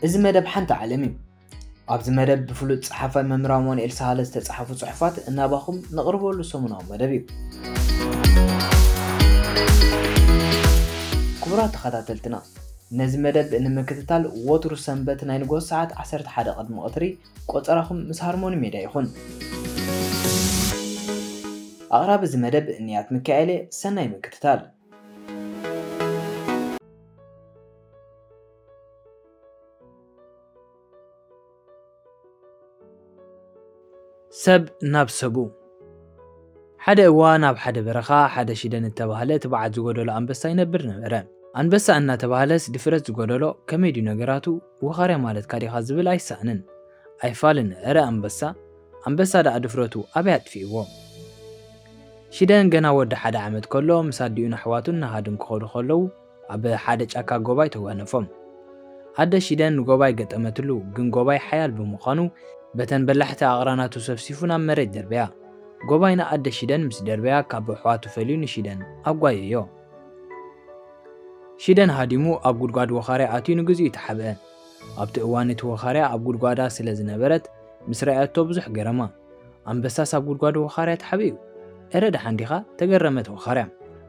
እዚ መደብ ሓንቲ ዓለም እዩ። ኣብዚ መደብ ብፍሉጥ ጸሓፋይ መምህር ኣማኑኤል ሳህለ ዝተጻሕፉ ጽሑፋት እናባኹም ነቕርበሉ ሰሙናዊ መደብ እዩ። ክቡራት ተኸታተልትና፣ ነዚ መደብ ንምክትታል ወትሩ ሰንበት ናይ ንግሆ ሰዓት ዓሰርተ ሓደ ቅድሚ ቀትሪ ቆጸራኹም ምስ ሃርሞኒ ሜድያ ይኹን። ኣቕራቢ እዚ መደብ ንያት ሚካኤል እየ። ሰናይ ምክትታል። ሰብ ናብ ሰቡ። ሓደ እዋን ኣብ ሓደ በረኻ ሓደ ሽደን እተባህለ ትብዓት ዝጎደሎ ኣንበሳ ይነብር ነበረ። ኣንበሳ እናተባህለስ ድፍረት ዝጎደሎ፣ ከመይ ድዩ ነገራቱ? ወኻርያ ማለትካ ዲኻ ዝብል ኣይሰኣንን ኣይፋልን። እረ ኣንበሳ፣ ኣንበሳ ደኣ ድፍረቱ ኣበይ ኣጥፊእዎ? ሽደን ገና ወዲ ሓደ ዓመት ከሎ ምስ ኣዲኡን ኣሕዋቱን ንሃድን ክኸዱ ከለዉ ኣብ ሓደ ጫካ ጎባይ ተጓነፎም። ኣደ ሽደን ንጎባይ ገጠመትሉ፣ ግን ጎባይ ሓያል ብምዃኑ በተን በላሕቲ ኣቕራናቱ ሰፍሲፉ ናብ መሬት ደርበያ። ጎባይ ንኣደ ሽደን ምስ ደርበያ ካብ ኣሕዋቱ ፈልዩ ንሽደን ኣጓየዮ። ሽደን ሃዲሙ ኣብ ጉድጓድ ወኻርያ ኣትዩ ንግዚኡ ተሓብአ። ኣብቲ እዋን እቲ ወኻርያ ኣብ ጉድጓዳ ስለ ዝነበረት ምስ ረኣየቶ ብዙሕ ገረማ። ኣንበሳስ ኣብ ጉድጓድ ወኻርያ ተሓቢኡ? እረ ደሓን ዲኻ? ተገረመት ወኻርያ።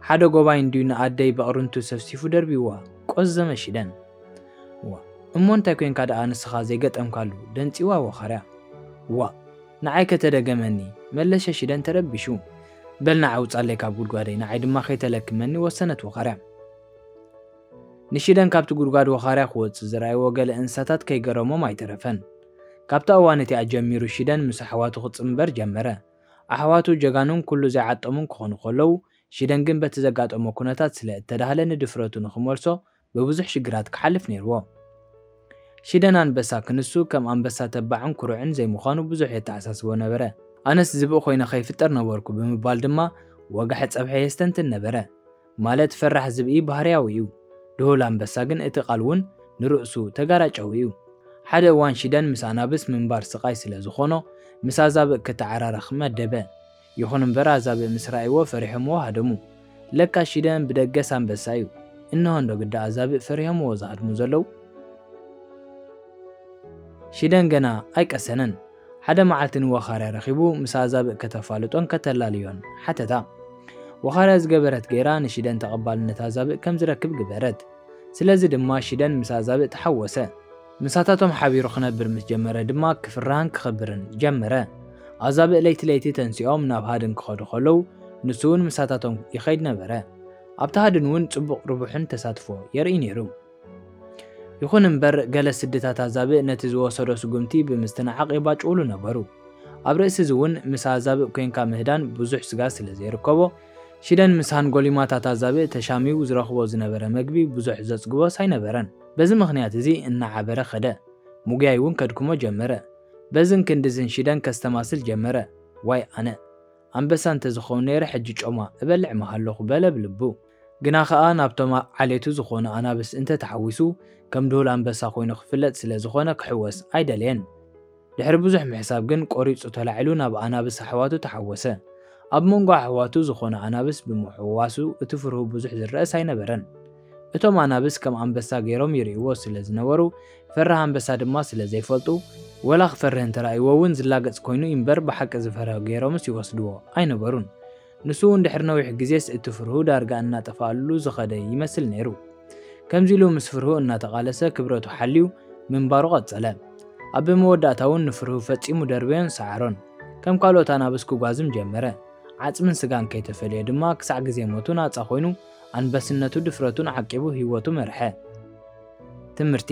ሓደ ጎባይ እንድዩ ንኣደይ በቕርንቱ ሰፍሲፉ ደርቢዋ። ቆዘመ ሽደን። ዋ፣ እሞ እንታይ ኮንካ ደኣ ንስኻ ዘይገጠምካሉ? ደንጺዋ ወኻርያ። ዋ፣ ንዓይ ከተደገመኒ፣ መለሸ ሽደን ተረቢሹ። በል ንዓ ውጻለይ ካብ ጉድጓደይ፣ ንዓይ ድማ ከይተለክመኒ ወሰነት ወኻርያ። ንሽደን ካብቲ ጉድጓድ ወኻርያ ክወጽእ ዝረኣይዎ ገለ እንስሳታት ከይገረሞም ኣይተረፈን። ካብታ እዋን እቲኣ ጀሚሩ ሽደን ምስ ኣሕዋቱ ክጽንበር ጀመረ። ኣሕዋቱ ጀጋኑን ኩሉ ዘይዓጠሙን ክኾኑ ከለዉ፣ ሽደን ግን በቲ ዘጋጠሞ ኩነታት ስለ እተዳህለ ንድፍረቱ ንኽመልሶ ብብዙሕ ሽግራት ክሓልፍ ነይርዎ። ሽደን ኣንበሳ ክንሱ ከም ኣንበሳ ተባዕን ኩሩዕን ዘይምዃኑ ብዙሕ የተሓሳስቦ ነበረ። ኣነስ ዝብኢ ኮይነ ከይፍጠር ነበርኩ ብምባል ድማ ወጋሒ ጸብሒ የስተንትን ነበረ። ማለት ፈራሕ ዝብኢ ባህርያዊ እዩ። ድሁል ኣንበሳ ግን እቲ ቃል እውን ንርእሱ ተጋራጫዊ እዩ። ሓደ እዋን ሽደን ምስ ኣናብስ ምንባር ስቓይ ስለ ዝኾኖ ምስ ኣዛብእ ክተዓራረኽ መደበ። ይኹን እምበር ኣዛብእ ምስ ረኣይዎ ፈሪሖምዎ ሃደሙ። ለካ ሽደን ብደገስ ኣንበሳ እዩ። እንሆ እንዶ ግዳ ኣዛብእ ፈሪሆምዎ ዝሃድሙ ዘለዉ። ሽደን ገና ኣይቀሰነን። ሓደ መዓልቲ ንወኻርያ ረኺቡ ምስ ኣዛብእ ከተፋልጦን ከተላልዮን ሓተታ። ወኻርያ ዝገበረት ገይራ ንሽደን ተቐባልነት ኣዛብእ ከም ዝረክብ ግበረት። ስለዚ ድማ ሽደን ምስ ኣዛብእ ተሓወሰ። ምሳታቶም ሓቢሩ ክነብር ምስ ጀመረ ድማ ክፍራህን ክኸብርን ጀመረ። ኣዛብእ ለይቲ ለይቲ ተንሲኦም ናብ ሃድን ክኸዱ ከለዉ ንሱ እውን ምሳታቶም ይኸይድ ነበረ። ኣብቲ ሃድን እውን ጽቡቕ ርቡሕን ተሳትፎ የርኢ ነይሩ። ይኹን እምበር ገለ ስድታት ኣዛብእ ነቲ ዝወሰዶ ስጉምቲ ብምስትንዓቕ የባጭውሉ ነበሩ። ኣብ ርእሲ እዚ እውን ምስ ኣዛብእ ኮንካ ምህዳን ብዙሕ ስጋ ስለ ዘይርከቦ ሽደን ምስ ሃንጎሊማታት ኣዛብእ ተሻሚው ዝረኽቦ ዝነበረ መግቢ ብዙሕ ዘጽግቦስ ኣይነበረን። በዚ ምኽንያት እዚ እናዓበረ ኸደ። ምጉያይ እውን ከድክሞ ጀመረ። በዝን ክንድዝን ሽደን ከስተማስል ጀመረ። ዋይ ኣነ! ኣንበሳ እንተዝኸውን ነይረ ሕጂ ጮማ እበልዕ ምሃለኹ በለ ብልቡ። ግና ኸኣ ናብቶም ዓሌቱ ዝኾኑ ኣናብስ እንተተሓዊሱ ከም ድሁል ኣንበሳ ኮይኑ ክፍለጥ ስለ ዝኾነ ክሕወስ ኣይደለየን። ድሕሪ ብዙሕ ምሕሳብ ግን ቆሪጹ ተላዒሉ ናብ ኣናብስ ኣሕዋቱ ተሓወሰ። ኣብ መንጎ ኣሕዋቱ ዝኾኑ ኣናብስ ብምሕዋሱ እቲ ፍርሁ ብዙሕ ዝረኣስ ኣይነበረን። እቶም ኣናብስ ከም ኣንበሳ ገይሮም ይርእይዎ ስለ ዝነበሩ ፈራህ ኣንበሳ ድማ ስለ ዘይፈልጡ ወላ ክፈርህ እንተራእይዎ እውን ዝላገጽ ኮይኑ እምበር ብሓቂ ዝፈርህ ገይሮምስ ይወስድዎ ኣይነበሩን። ንሱ እውን ድሕሪ ነዊሕ ግዜስ እቲ ፍርሁ ዳርጋ እናጠፍኣሉ ዝኸደ ይመስል ነይሩ። ከምዚ ኢሉ ምስ ፍርሁ እናተቓለሰ ክብረቱ ሓልዩ ምንባሩ ቀጸለ። ኣብ መወዳእታ እውን ንፍርሁ ፈጺሙ ደርበዮን ሰዓሮን። ከም ካልኦት ኣናብስ ክጓዝም ጀመረ። ዓጽምን ስጋን ከይተፈልየ ድማ ክሳዕ ግዜ ሞቱ ናጻ ኮይኑ ኣንበስነቱ ድፍረቱን ዓቂቡ ህይወቱ መርሐ። ትምህርቲ።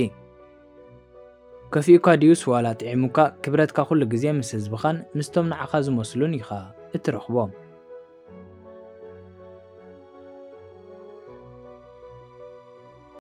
ከፊኡካ ድዩስ ዋላ ጥዒሙካ ክብረትካ ኩሉ ግዜ ምስ ህዝብኻን ምስቶም ንዓኻ ዝመስሉን ኢኻ እትረኽቦ።